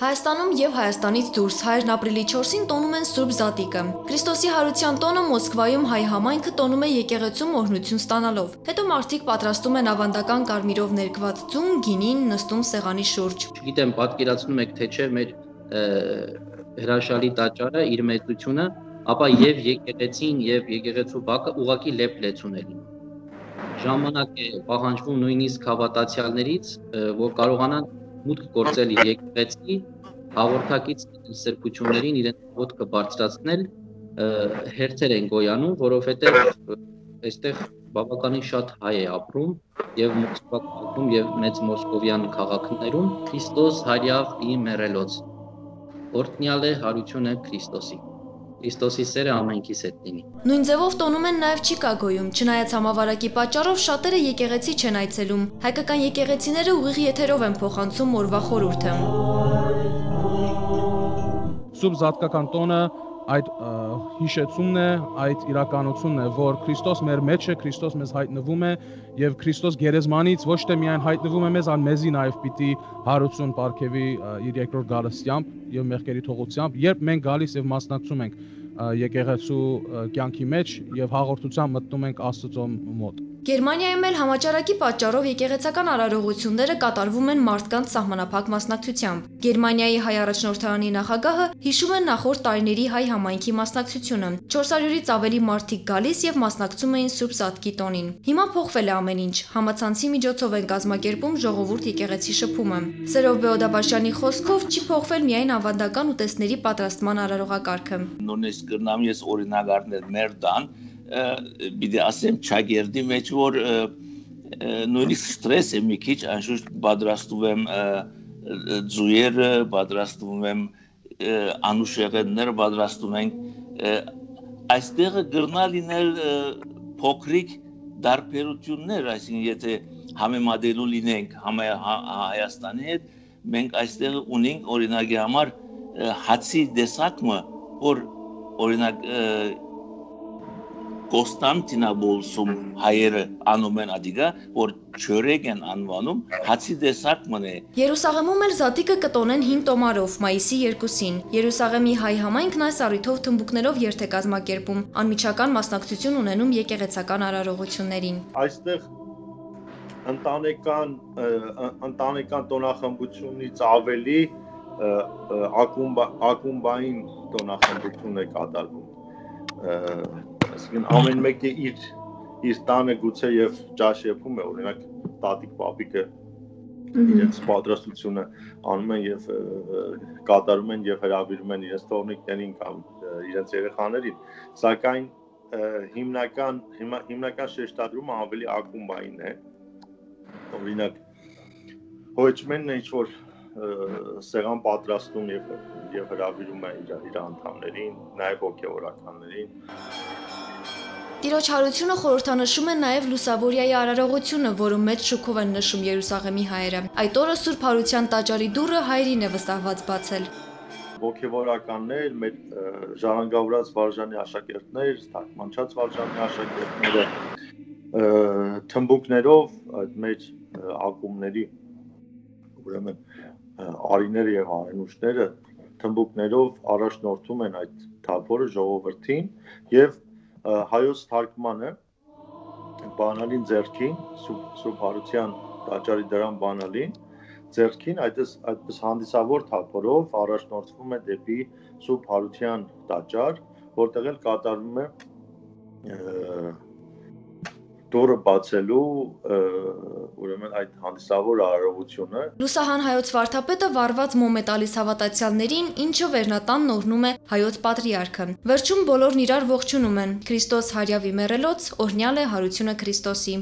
Հայաստանում եւ Հայաստանից դուրս հայերն ապրիլի 4-ին տոնում են Սուրբ Զատիկը։ Քրիստոսի հարության տոնը Մոսկվայում հայ համայնքը տոնում է եկեղեցում օրհնություն ստանալով։ Հետո մարդիկ պատրաստում են ավանդական կարմիրով ներկված ձուն, գինին, նստում սեղանի շուրջ։ Չգիտեմ, պատկերացնում եք թե չէ մեր հրաշալի տաճարը իր մեծությունը, ապա եւ եկեղեցին եւ եկեղեցու բակը ուղակի լեփ-լեցուն է լինում։ Ժամանակ է պահանջվում նույնիսկ հավատացյալներից, որ կարողանան մուտք գործել իր եկեղեցի, հաղորդակից սրբություններին իրենց ոտքը բարձրացնել, հերթեր են գոյանում, որովհետև այստեղ բավականին շատ հայ է ապրում եւ Մոսկվայում եւ մեծ մոսկովյան քաղաքներում Քրիստոս հարյավ ի մեռելոց։ Օրհնյալ է հարությունը Քրիստոսի։ Քրիստոսի սերը ամենքիս հետ լինի։ Նույն ձևով տոնում են նաև Չիկագոյում, չնայած համավարակի պատճառով շատերը եկեղեցի չեն այցելում։ Հայկական եկեղեցիները ուղիղ եթերով են փոխանցում օրվա խորհուրդը։ Սուրբ Զատկական տոնը այդ հիշեցումն է, այդ իրականությունն է, որ Քրիստոս մեր մեջ է, Քրիստոս մեզ հայտնվում է եւ Քրիստոս գերեզմանից ոչ թե միայն հայտնվում է մեզ, այլ մեզի նաեւ պիտի հարություն ապարգևի իր երկրորդ գալստությամբ եւ մեղքերի թողությամբ, երբ մենք գալիս եւ մասնակցում ենք եկեղեցու կյանքի մեջ եւ հաղորդությամբ մտնում ենք Աստծո մոտ։ Գերմանիայում էլ համաճարակի պատճառով եկեղեցական արարողությունները կատարվում են մարդկանց սահմանափակ մասնակցությամբ։ Գերմանիայի հայ առաջնորդարանի նախագահը հիշում է նախորդ տարիների հայ համայնքի մասնակցությունը։ 400-ից ավելի մարդիկ գալիս եւ մասնակցում էին Սուրբ Զատկի տոնին։ Հիմա փոխվել է ամեն ինչ։ Համացանցի միջոցով են կազմակերպում ժողովուրդ եկեղեցի շփումը։ Սերով Բեոդաբաշյանի խոսքով չի փոխվել միայն ավանդական ուտեստների պատրաստման արարողակարգը։ Նույնիսկ կրնամ ես օրինագարներ մեր տան բիդի ասեմ ճագերդի մեջ որ նույնիսկ ստրես է մի քիչ անշուշտ պատրաստում եմ ձուերը պատրաստում եմ անուշեղեններ պատրաստում ենք այստեղ գրնա լինել փոքրիկ դարբերություններ այսինքն եթե համեմատելու լինենք Հայաստանի հետ մենք այստեղ ունենք օրինակի համար հացի դեսակը որ օրինակ Կոստանտինոպոլսում հայերը անում են ադիգա, որ չորեկ են անվանում, հացի դեսակն է։ Երուսաղեմում էլ Զատիկը կտոնեն 5 տոմարով, մայիսի 2-ին։ Երուսաղեմի հայ համայնքն այս առիթով թմբուկներով երթ է կազմակերպում, անմիջական մասնակցություն ունենում եկեղեցական արարողություններին։ Այստեղ ընտանեկան տոնախմբությունից ավելի ակումբային տոնախմբություն է կատարվում։ Այսինքն ամեն մեկը իր տանը գուցե եւ ճաշ եփում է, օրինակ տատիկ պապիկը իրենց պատրաստությունը անում են եւ կատարում են եւ հրավիրում են իրենց թողնիկներին կամ իրենց երեխաներին, սակայն հիմնական շեշտադրումը ավելի ակումբային է, օրինակ հոյճմենն է ինչ-որ սեղան պատրաստում եւ հրավիրում է իր անդամներին, նաեւ հոգեվորականներին։ Տիրոջ հարությունը խորհրդանշում է նաև Լուսավորիայի արարողությունը, որում մեծ շուքով են նշում Երուսաղեմի հայերը։ Այդ օրը Սուրբ Հարության տաճարի դուռը հայերին է վստահված բացել։ Ոգևորականներ, մեր ժառանգավորած վարժանի աշակերտներ, թարգմանչած վարժանի աշակերտները թմբուկներով այդ մեր ակումբների ուրեմն արիները եւ արենուշները թմբուկներով առաջնորդում են այդ թափորը ժողովրդին եւ հայոց թարգմանը բանալին ձեռքին Սուրբ Հարության տաճարի դրան բանալին ձեռքին այդպես հանդիսավոր թափորով առաջնորդվում է դեպի Սուրբ Հարության տաճար, որտեղ էլ կատարվում է դուրը բացելու ուրեմն այդ հանդիսավոր արարողությունը։ Լուսահան հայոց վարդապետը վառված մոմ է տալիս հավատացյալներին, ինչը վերնատանն օրհնում է հայոց պատրիարքը։ Վերջում բոլորն իրար ողջունում են։ Քրիստոս հարյավ ի մեռելոց, օրհնյալ է հարությունը Քրիստոսի։